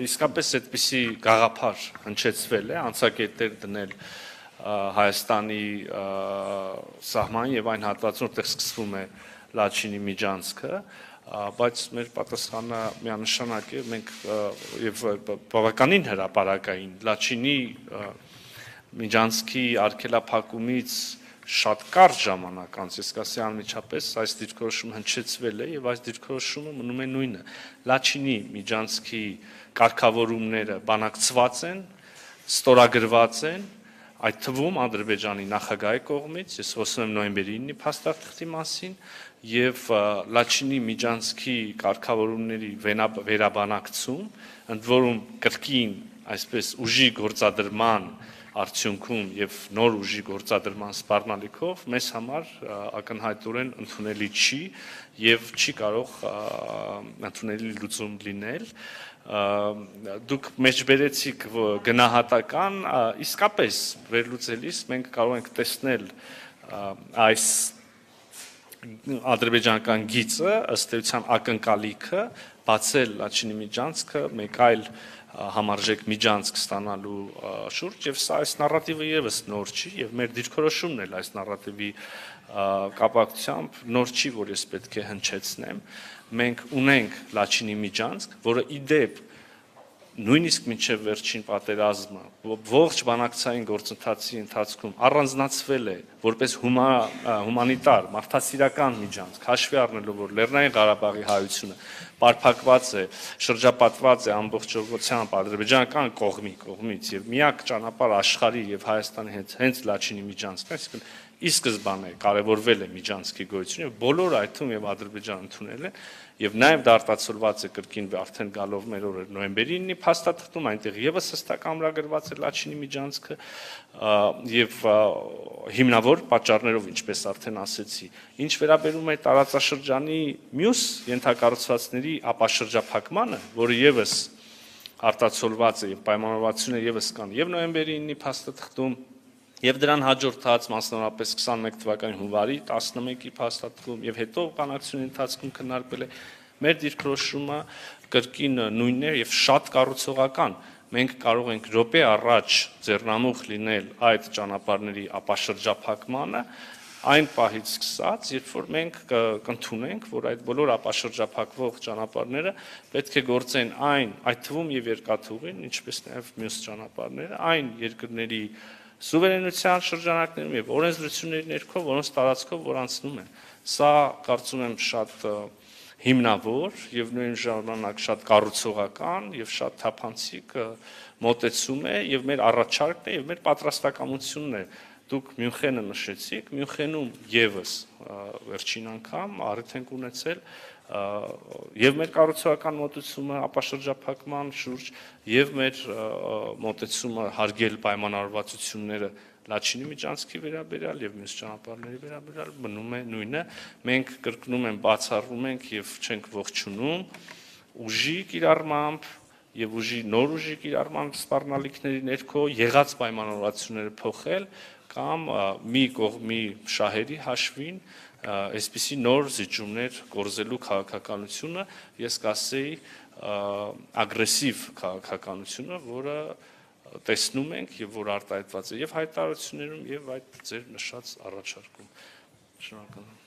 իսկապես այդպիսի գաղափար հնչեցվել է, անցակետեր դնել Հայաստանի սահման եւ այն հատվածում, որտեղ սկսվում է Լաչինի միջանցքը, բայց մեր պատասխանը միանշանակ է, մենք եւ բավականին հրապարակային Լաչինի միջանցքի արգելափակումից շատ կարճ ժամանակ անց, ես կասի անմիջապես այս դիրքորոշումը հնչեցվել է եւ այս դիրքորոշումը մնում է նույնը։ Լաչինի միջանցքի կարգավորումները բանակցված են, ստորագրված են, այդ թվում Ադրբեջանի նախագահի կողմից, ես խոսում եմ նոյեմբերի 9-ի փաստաթղթի մասին, եւ Լաչինի միջանցքի կարգավորումների վերաբանակցում, ընդ որում կրկին այսպես ուժի գործադրման արդյունքում եւ նոր ուժի գործադրման սպառնալիքով մեզ համար ակնհայտորեն ընդունելի չի եւ չի կարող ընդունելի լուծում լինել դուք մեջբերեցիք գնահատական իսկապես վերլուծելիս մենք կարող ենք տեսնել այս ադրբեջանական գիծը ըստ էության ակնկալիքը բացել Լաչինի միջանցքը մեկ այլ համարժեք միջանցք ստանալու շուրջ եւ սա այս նարատիվը եւս նոր չի եւ մեր դիրքորոշումն էլ այս նարատիվի կապակցությամբ նոր չի, որ ես պետք է հնչեցնեմ մենք ունենք Լաչինի միջանցք, որը ի դեպ նույնիսկ մինչև վերջին պատերազմը ողջ բանակցային գործընթացի ընթացքում առանձնացվել է որպես հումանիտար մարդասիրական միջանցք, հաշվի առնելով որ Լեռնային Ղարաբաղի հայությունը պարփակված է, շրջապատված է ամբողջությամբ ադրբեջանական կողմից եւ միակ ճանապարհ աշխարհի եւ Հայաստանի հենց Լաչինի միջանցքն է, այսինքն ի սկզբանե կարևորվել է միջանցքի գոյությունը եւ բոլորը այդ թվում եւ Ադրբեջանը ընդունել են եւ նաեւ դա արտացոլված է կրկին արդեն գալով մեր օրը նոյեմբերի 9-ի փաստաթղթում այնտեղ եւս հստակ ամրագրված է Լաչինի միջանցքը եւ հիմնավոր պատճառներով ինչպես արդեն ասեցի ինչ վերաբերում է տարածաշրջանի մյուս ենթակառուցվածքների ապաշրջափակմանը որը եւս արտացոլված է եւ պայմանավորվածությունը եւս կան եւ նոյեմբերի 9-ի փաստաթղթում եւ դրան հաջորդած մասնավորապես 21 թվականի հունվարի 11-ի փաստաթղթում եւ հետո բանակցությունների ընթացքում քննարկվել է մեր դիրքորոշումը կրկին նույնն է եւ շատ կառուցողական մենք կարող ենք րոպե առաջ ձեռնամուխ լինել այդ ճանապարհների ապաշրջափակմանը այն պահից սկսած, երբ որ մենք կընդունենք, որ այդ բոլոր ապաշրջափակվող ճանապարհները պետք է գործեն այդ թվում եւ երկաթուղին, ինչպես նաեւ մյուս ճանապարհները, այն երկրների սուվերենության շրջանակներում եւ օրենսդրությունների ներքո, որոնց տարածքով որ անցնում են։ Սա կարծում եմ շատ հիմնավոր եւ նույն ժամանակ շատ կառուցողական եւ շատ թափանցիկ մոտեցում է եւ մեր առաջարկն է եւ մեր պատրաստակամությունն է։ Դուք Մյունխենը նշեցիք, Մյունխենում եւս վերջին անգամ առիթ ենք ունեցել եւ մեր կառուցողական մոտեցումը ապաշրջափակման շուրջ եւ մեր մոտեցումը հարգել պայմանավորվածությունները Լաչինի միջանցքի վերաբերյալ եւ մյուս ճանապարհների վերաբերյալ մնում է նույնը մենք կրկնում եմ բացառում ենք եւ չենք ողջունում ուժի կիրառմամբ եւ նոր ուժի կիրառմամբ սպառնալիքների ներքո եղած պայմանավորվածությունները փոխել կամ մի կողմի շահերի հաշվին այսպիսի նոր զիջումներ կորզելու քաղաքականությունը ես կասեի ագրեսիվ քաղաքականությունը, որը տեսնում ենք եւ որ արտահայտված է եւ հայտարարություններում եւ այդ ձեր նշած առաջարկում։ Շնորհակալ եմ։